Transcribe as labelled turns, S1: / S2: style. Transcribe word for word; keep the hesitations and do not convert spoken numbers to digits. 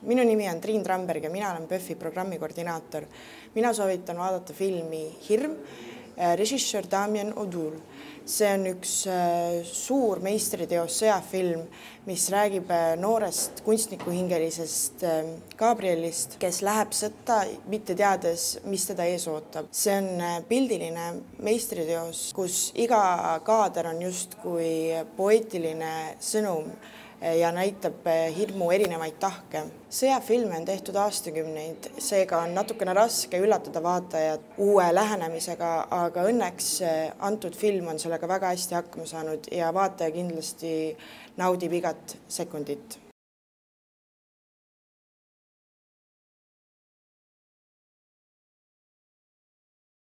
S1: Minu nimi on Triin Tramberg ja mina olen P Ö F-i programmikoordinaator. Mina soovitan vaadata filmi Hirm, režissöör Damien Oudul. See on üks suur meistriteos sõjafilm, mis räägib noorest kunstnikuhingelisest Gabrielist, kes läheb sõtta, mitte teades, mis teda ees ootab. See on pildiline meistriteos, kus iga kaader on justkui poeetiline sõnum ja näitab hirmu erinevaid tahke. Sõjafilme on tehtud aastakümneid, seega on natukene raske üllatada vaatajat uue lähenemisega, aga õnneks antud film on sellega väga hästi hakkama saanud ja vaataja kindlasti naudib igat sekundit.